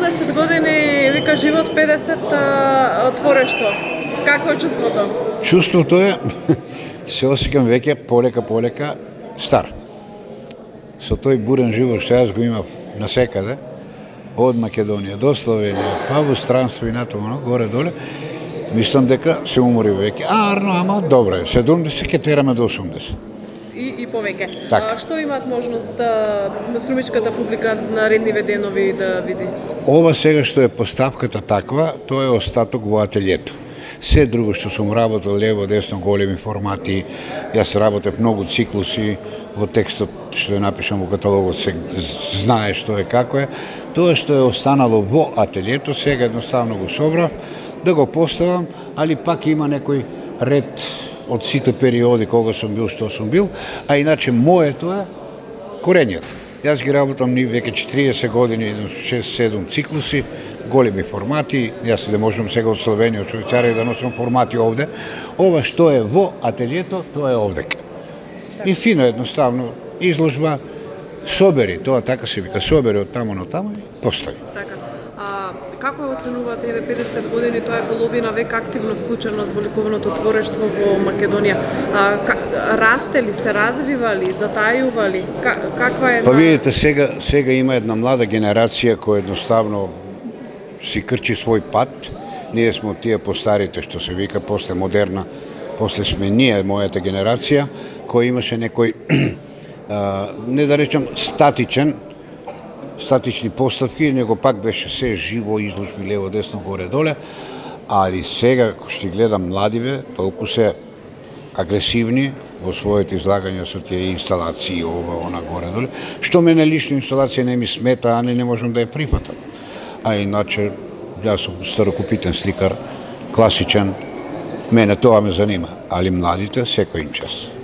20 години, вика живот 50 творештво. Какво е чувството? Чувството е, се осеќам веќе полека стар. Со тој бурен живот што јас го имав насекаде, од Македонија до Словенија, па во странство и натаму, горе-доле, мислам дека се умори веќе. Арно, ама добро е, 70 ке тераме до 80. И повеќе. Така. Што имаат можност да струмичката публика на редниве денови да види? Ова сега што е поставката таква, тоа е остаток во ателјето. Се друго што сум работел лево, десно, големи формати, јас работев многу циклуси, во текстот што ја напишам во каталогот се знае што е како е. Тоа што е останало во ателјето, сега едноставно го собрав да го поставам, али пак има некој ред од сите периоди кога сум бил, што сум бил, а иначе моето е корењето. Јас ги работам ни веќе 40 години, 6-7 циклуси, големи формати, јас да можам сега од Словенија, од Швајцарија да носам формати овде. Ова што е во ателјето, тоа е овдека. И фино едноставно изложба, собери, тоа така се вика, собери од таму на таму и постави. Така. Како ја оценувате еве 50 години, тоа е половина век активно вклученост во ликовното творештво во Македонија. Расте ли, се развива ли, затајува ли? Каква е? Па видите, сега има една млада генерација која едноставно си крчи свој пат. Ние сме од тие постарите што се вика, после модерна, после сме ние, мојата генерација, која имаше некој, не да речем статични поставки, него пак беше се живо, изложби лево, десно, горе-доле, али сега, ако ще гледам младиве, толку се агресивни во своите излагања со тие инсталации, ова, она, горе-доле, што мене лично инсталација не ми смета, а не можам да ја прифатам. А иначе, јас сум старокупитен сликар, класичен, мене тоа ме занима, али младите секој им час.